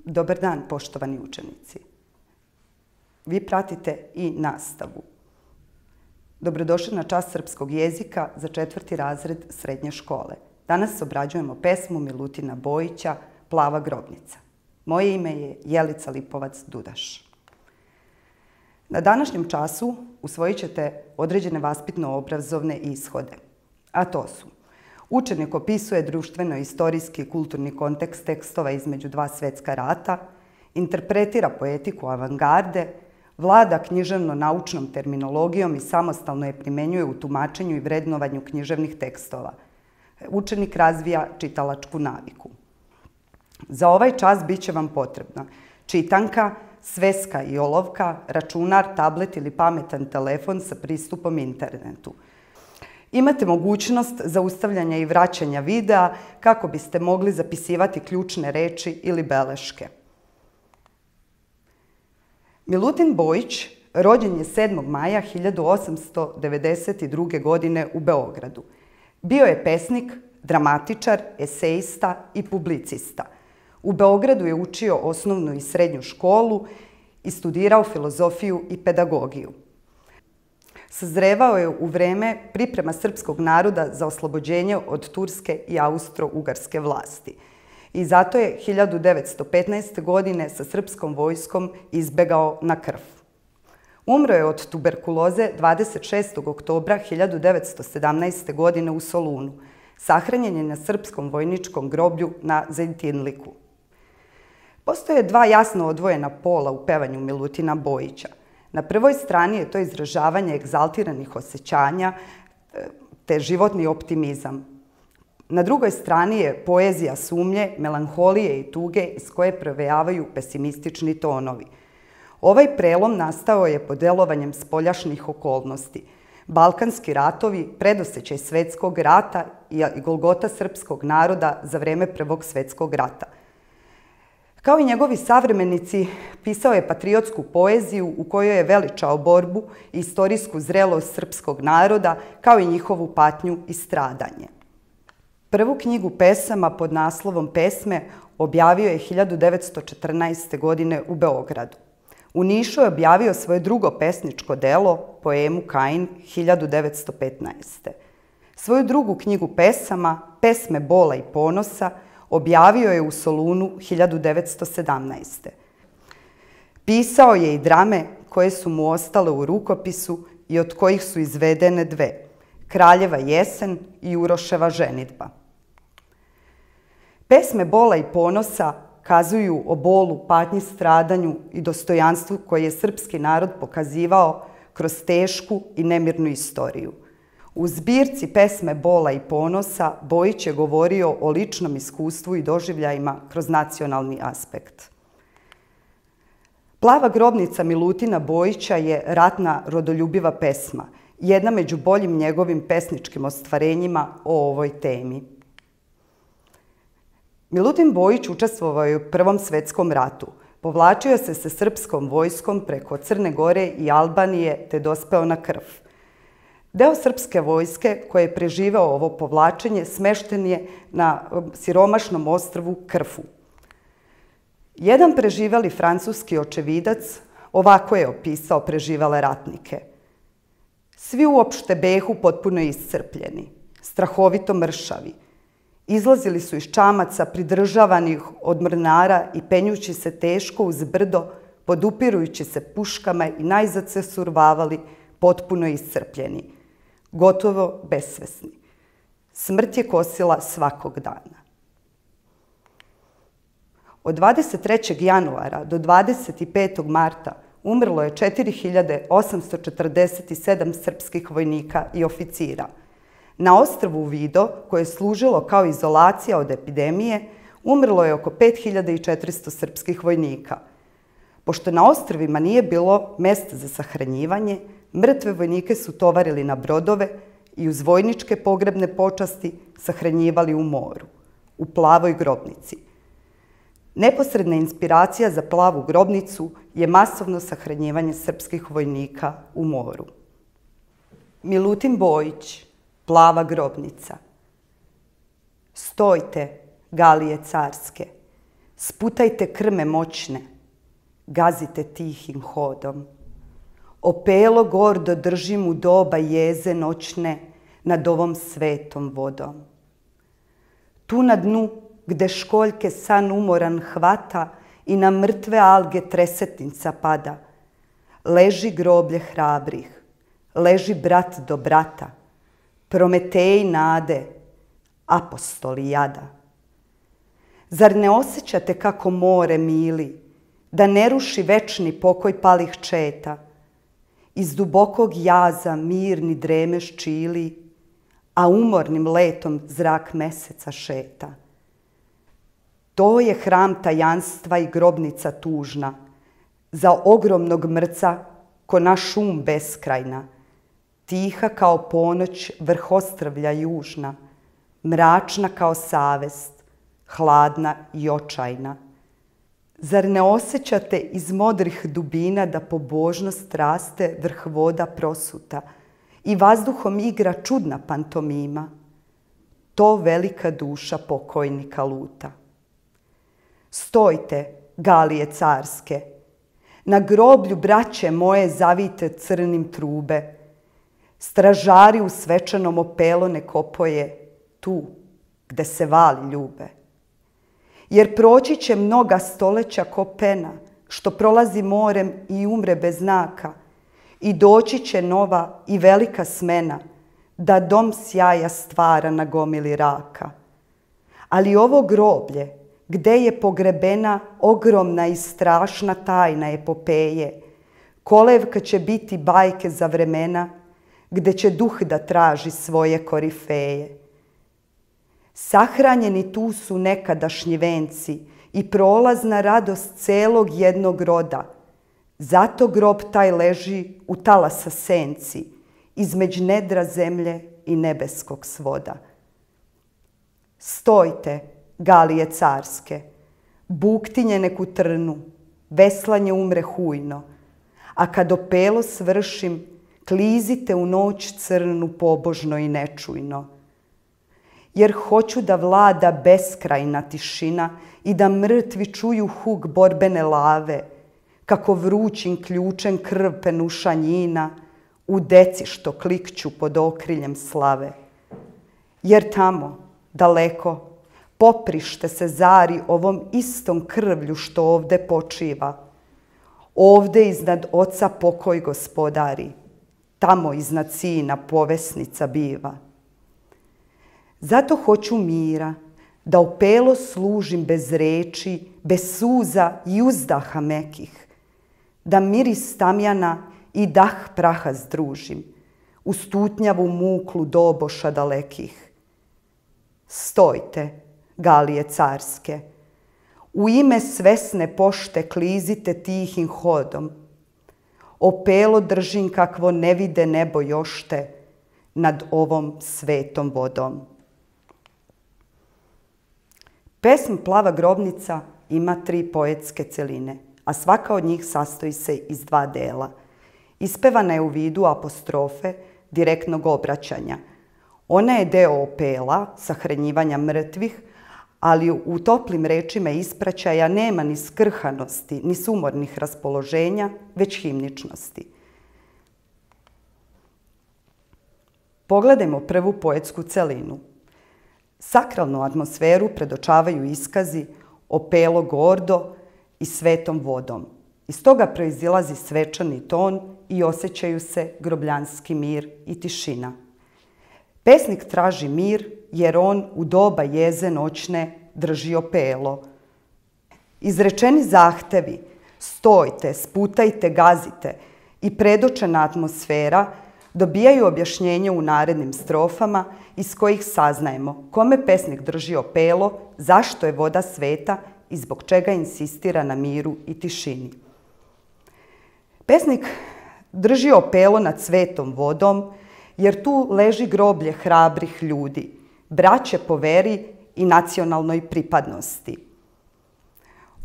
Dobar dan, poštovani učenici. Vi pratite i nastavu. Dobrodošli na čas srpskog jezika za 4. razred srednje škole. Danas obrađujemo pesmu Milutina Bojića Plava grobnica. Moje ime je Jelica Lipovac-Dudaš. Na današnjem času usvojit ćete određene vaspitno-obrazovne ishode, a to su: učenik opisuje društveno-istorijski i kulturni kontekst tekstova između dva svetska rata, interpretira poetiku avangarde, vlada književno-naučnom terminologijom i samostalno je primenjuje u tumačenju i vrednovanju književnih tekstova. Učenik razvija čitalačku naviku. Za ovaj čas bit će vam potrebna čitanka, sveska i olovka, računar, tablet ili pametan telefon sa pristupom internetu. Imate mogućnost zaustavljanja i vraćanja videa kako biste mogli zapisivati ključne reči ili beleške. Milutin Bojić rođen je 7. maja 1892. godine u Beogradu. Bio je pesnik, dramatičar, esejista i publicista. U Beogradu je učio osnovnu i srednju školu i studirao filozofiju i pedagogiju. Sazrevao je u vreme priprema srpskog naroda za oslobođenje od turske i austro-ugarske vlasti. I zato je 1915. godine sa srpskom vojskom izbegao na krv. Umro je od tuberkuloze 26. oktobra 1917. godine u Solunu. Sahranjen je na srpskom vojničkom groblju na Zejtinliku. Postoje dva jasno odvojena pola u pevanju Milutina Bojića. Na prvoj strani je to izražavanje egzaltiranih osjećanja te životni optimizam. Na drugoj strani je poezija sumnje, melanholije i tuge iz koje provejavaju pesimistični tonovi. Ovaj prelom nastao je pod delovanjem spoljašnjih okolnosti. Balkanski ratovi, predosećaj svetskog rata i golgota srpskog naroda za vreme Prvog svetskog rata. Kao i njegovi savremenici, pisao je patriotsku poeziju u kojoj je veličao borbu i istorijsku zrelost srpskog naroda, kao i njihovu patnju i stradanje. Prvu knjigu pesama pod naslovom Pesme objavio je 1914. godine u Beogradu. U Nišu je objavio svoje drugo pesničko delo, poemu Kain, 1915. Svoju drugu knjigu pesama, Pesme bola i ponosa, objavio je u Solunu 1917. Pisao je i drame koje su mu ostale u rukopisu i od kojih su izvedene dve: Kraljeva jesen i Uroševa ženidba. Pesme bola i ponosa kazuju o bolu, patnji, stradanju i dostojanstvu koje je srpski narod pokazivao kroz tešku i nemirnu istoriju. U zbirci Pesme bola i ponosa Bojić je govorio o ličnom iskustvu i doživljajima kroz nacionalni aspekt. Plava grobnica Milutina Bojića je ratna rodoljubiva pesma, jedna među boljim njegovim pesničkim ostvarenjima o ovoj temi. Milutin Bojić učestvovao je u Prvom svetskom ratu. Povlačio se sa srpskom vojskom preko Crne Gore i Albanije te dospeo na krv. Deo srpske vojske koji je preživeo ovo povlačenje smešten je na siromašnom ostrvu Krfu. Jedan preživeli francuski očevidac ovako je opisao preživele ratnike: svi uopšte behu potpuno iscrpljeni, strahovito mršavi. Izlazili su iz čamaca pridržavanih od mornara i penjući se teško uz brdo, podupirujući se puškama i najzad se survavali potpuno iscrpljeni, gotovo besvesni. Smrt je kosila svakog dana. Od 23. januara do 25. marta umrlo je 4847 srpskih vojnika i oficira. Na ostrvu Vido, koje je služilo kao izolacija od epidemije, umrlo je oko 5400 srpskih vojnika. Pošto na ostrvima nije bilo mesta za sahranjivanje, mrtve vojnike su tovarili na brodove i uz vojničke pogrebne počasti sahranjivali u moru, u Plavoj grobnici. Neposredna inspiracija za Plavu grobnicu je masovno sahranjivanje srpskih vojnika u moru. Milutin Bojić, Plava grobnica. Stojte, galije carske, sputajte krme moćne, gazite tihim hodom. Opelo gordo držim u doba jeze noćne nad ovom svetom vodom. Tu na dnu, gde školjke san umoran hvata i na mrtve alge tresetnica pada, leži groblje hrabrih, leži brat do brata, Prometeji nade, apostoli jada. Zar ne osjećate kako more mili, da ne ruši večni pokoj palih četa? Iz dubokog jaza mirni dremeš čili, a umornim letom zrak meseca šeta. To je hram tajanstva i grobnica tužna, za ogromnog mrca ko naš šum beskrajna, tiha kao ponoć vrh ostrvlja južna, mračna kao savest, hladna i očajna. Zar ne osjećate iz modrih dubina da pobožnost raste vrh voda prosuta i vazduhom igra čudna pantomima? To velika duša pokojnika luta. Stojte, galije carske, na groblju braće moje zavite crnim trube, stražari u svečanom opelo nek opoje tu gde se vali ljube. Jer proći će mnoga stoleća ko pena, što prolazi morem i umre bez znaka, i doći će nova i velika smena, da dom sjaja stvara na gomili raka. Ali ovo groblje, gde je pogrebena ogromna i strašna tajna epopeje, kolevka će biti bajke za vremena, gde će duh da traži svoje korifeje. Sahranjeni tu su nekadašnji venci i prolazna radost celog jednog roda. Zato grob taj leži u talasa senci, između nedra zemlje i nebeskog svoda. Stojte, galije carske, buktinje neku trnu, veslanje umre hujno, a kad opelo svršim, klizite u noć crnu pobožno i nečujno. Jer hoću da vlada beskrajna tišina i da mrtvi čuju huk borbene lave, kako vrućim ključem krv penuša njina, u deci što klikću pod okriljem slave. Jer tamo, daleko, poprište se zari ovom istom krvlju što ovde počiva. Ovde iznad oca pokoj gospodari, tamo iznad sina povesnica biva. Zato hoću mira, da opelo služim bez reči, bez suza i uzdaha mekih, da miris tamjana i dah praha združim, u stutnjavu muklu doboša dalekih. Stojte, galije carske, u ime svesne pošte klizite tihim hodom, opelo držim kakvo ne vide nebo jošte nad ovom svetom vodom. Pesma Plava grobnica ima 3 poetske celine, a svaka od njih sastoji se iz 2 dela. Ispevana je u vidu apostrofe direktnog obraćanja. Ona je deo opela, sahranjivanja mrtvih, ali u toplim rečima ispraćaja nema ni skrhanosti, ni sumornih raspoloženja, već himničnosti. Pogledajmo prvu poetsku celinu. Sakralnu atmosferu predočavaju iskazi opelo gordo i svetom vodom. Iz toga proizilazi svečani ton i osjećaju se grobljanski mir i tišina. Pesnik traži mir jer on u doba jeze noćne drži opelo. Izrečeni zahtevi stojte, sputajte, gazite i predočena atmosfera dobijaju objašnjenje u narednim strofama iz kojih saznajemo kome pesnik drži opelo, zašto je voda sveta i zbog čega insistira na miru i tišini. Pesnik drži opelo nad svetom vodom jer tu leži groblje hrabrih ljudi, braće po veri i nacionalnoj pripadnosti.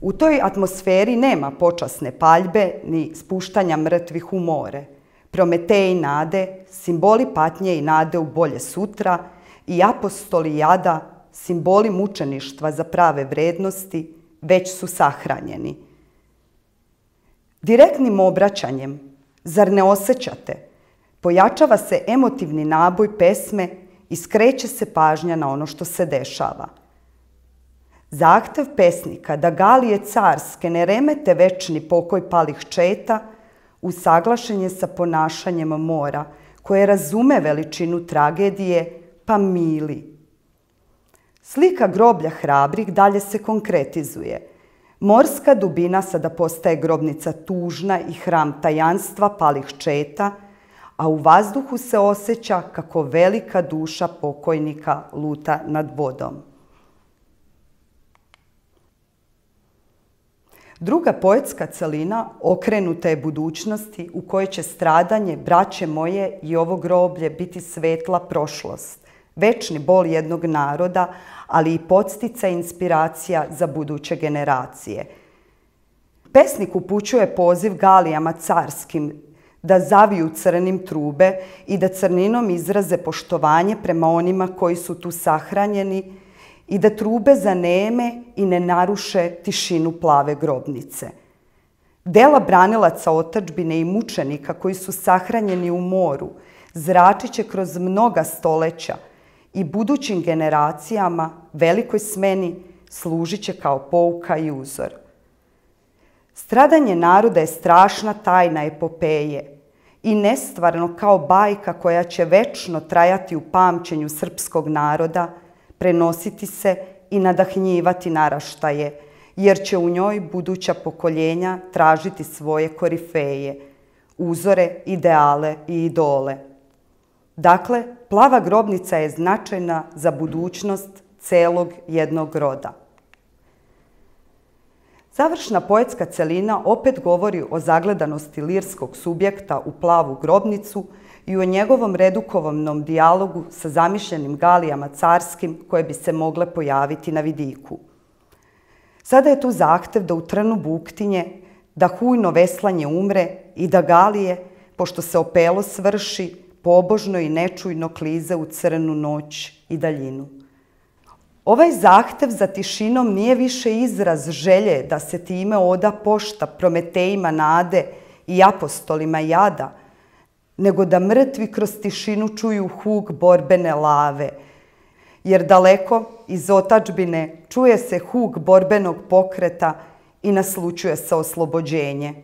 U toj atmosferi nema počasne paljbe ni spuštanja mrtvih u more. Prometeji nade, simboli patnje i nade u bolje sutra i apostoli jada, simboli mučeništva za prave vrednosti, već su sahranjeni. Direktnim obraćanjem, zar ne osjećate, pojačava se emotivni naboj pesme i skreće se pažnja na ono što se dešava. Zahtev pesnika da galije carske ne remete večni pokoj palih četa usaglašen je sa ponašanjem mora, koje razume veličinu tragedije, pa mili. Slika groblja hrabrih dalje se konkretizuje. Morska dubina sada postaje grobnica tužna i hram tajanstva palih četa, a u vazduhu se osjeća kako velika duša pokojnika luta nad vodom. Druga poetska celina okrenuta je budućnosti u kojoj će stradanje braće moje i ovo groblje biti svetla prošlost, večni bol jednog naroda, ali i podsticaj inspiracija za buduće generacije. Pesnik upućuje poziv galijama carskim da zaviju crnim trube i da crninom izraze poštovanje prema onima koji su tu sahranjeni i da trube zaneme i ne naruše tišinu plave grobnice. Dela branilaca otadžbine i mučenika koji su sahranjeni u moru zračit će kroz mnoga stoleća i budućim generacijama, velikoj smeni, služit će kao pouka i uzor. Stradanje naroda je strašna tajna epopeje i nestvarno kao bajka koja će večno trajati u pamćenju srpskog naroda, prenositi se i nadahnjivati naraštaje, jer će u njoj buduća pokoljenja tražiti svoje korifeje, uzore, ideale i idole. Dakle, plava grobnica je značajna za budućnost celog jednog roda. Završna poetska celina opet govori o zagledanosti lirskog subjekta u plavu grobnicu i o njegovom redukovnom dijalogu sa zamišljenim galijama carskim koje bi se mogle pojaviti na vidiku. Sada je tu zahtev da u trnu buktinje, da hujno veslanje umre i da galije, pošto se opelo svrši, pobožno i nečujno klize u crnu noć i daljinu. Ovaj zahtev za tišinom nije više izraz želje da se time oda pošta prometejima nade i apostolima jada, nego da mrtvi kroz tišinu čuju huk borbene lave, jer daleko iz otadžbine čuje se huk borbenog pokreta i naslućuje se oslobođenje.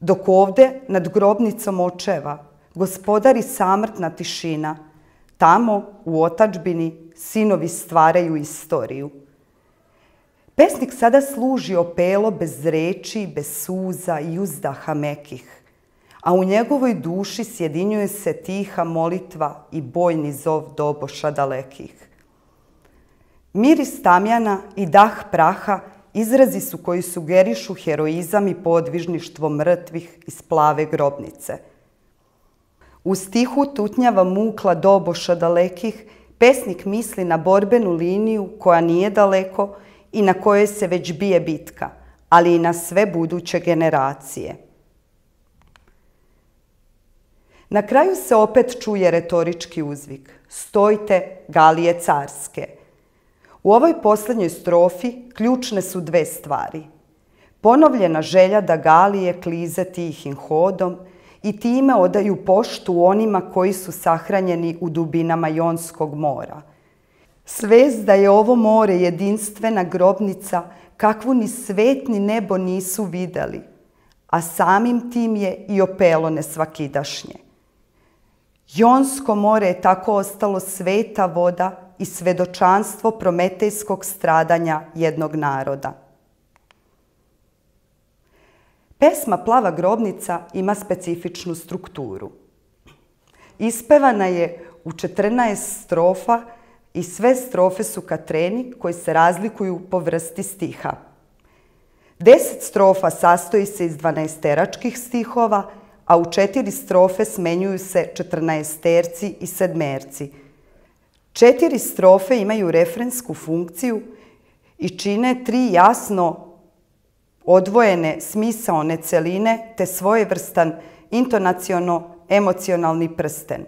Dok ovde, nad grobnicom očeva, gospodari samrtna tišina, tamo, u otadžbini, sinovi stvaraju istoriju. Pesnik sada služi opelo bez reči, bez suza i uzdaha mekih, a u njegovoj duši sjedinjuje se tiha molitva i bojni zov doboša dalekih. Miris tamjana i dah praha izrazi su koji sugerišu heroizam i podvižništvo mrtvih iz plave grobnice. U stihu tutnjava mukla doboša dalekih, pesnik misli na borbenu liniju koja nije daleko i na kojoj se već bije bitka, ali i na sve buduće generacije. Na kraju se opet čuje retorički uzvik: stojte, galije carske. U ovoj posljednjoj strofi ključne su dve stvari. Ponovljena želja da galije klize tihim hodom i time odaju poštu onima koji su sahranjeni u dubinama Jonskog mora. Svest da je ovo more jedinstvena grobnica kakvu ni svet ni nebo nisu videli, a samim tim je i opelo nesvakidašnje. Jonsko more je tako ostalo sveta voda i svedočanstvo prometejskog stradanja jednog naroda. Pesma Plava grobnica ima specifičnu strukturu. Ispevana je u 14 strofa i sve strofe su katreni koji se razlikuju po vrsti stiha. 10 strofa sastoji se iz 12-teračkih stihova, a u 4 strofe smenjuju se 14-terci i 7-erci. 4 strofe imaju refrensku funkciju i čine 3 jasno odvojene smisaone celine te svojevrstan intonaciono-emocionalni prsten.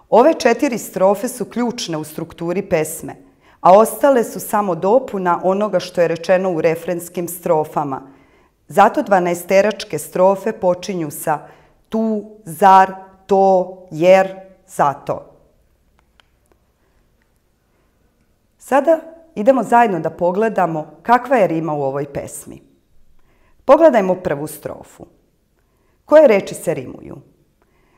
Ove 4 strofe su ključne u strukturi pesme, a ostale su samo dopuna onoga što je rečeno u refrenskim strofama. Zato 12-teračke strofe počinju sa tu, zar, to, jer, zato. Sada idemo zajedno da pogledamo kakva je rima u ovoj pesmi. Pogledajmo prvu strofu. Koje reči se rimuju?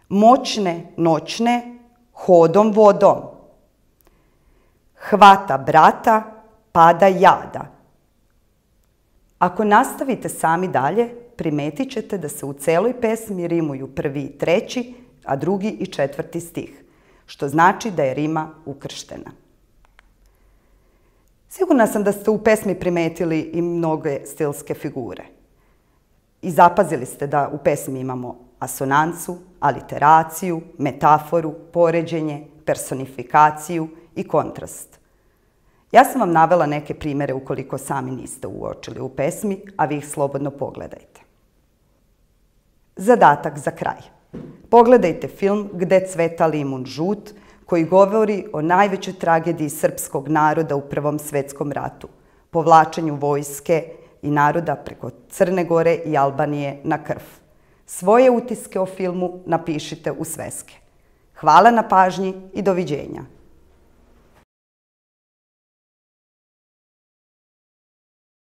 Moćne, noćne, hodom, vodom. Hvata brata, pada jada. Ako nastavite sami dalje, primetit ćete da se u celoj pesmi rimuju prvi i treći, a drugi i četvrti stih, što znači da je rima ukrštena. Sigurna sam da ste u pesmi primetili i mnoge stilske figure. I zapazili ste da u pesmi imamo asonancu, aliteraciju, metaforu, poređenje, personifikaciju i kontrast. Ja sam vam navela neke primere ukoliko sami niste uočili u pesmi, a vi ih slobodno pogledajte. Zadatak za kraj. Pogledajte film Gde cveta limun žut, koji govori o najvećoj tragediji srpskog naroda u Prvom svetskom ratu, povlačenju vojske i naroda preko Crne Gore i Albanije na krv. Svoje utiske o filmu napišite u sveske. Hvala na pažnji i doviđenja.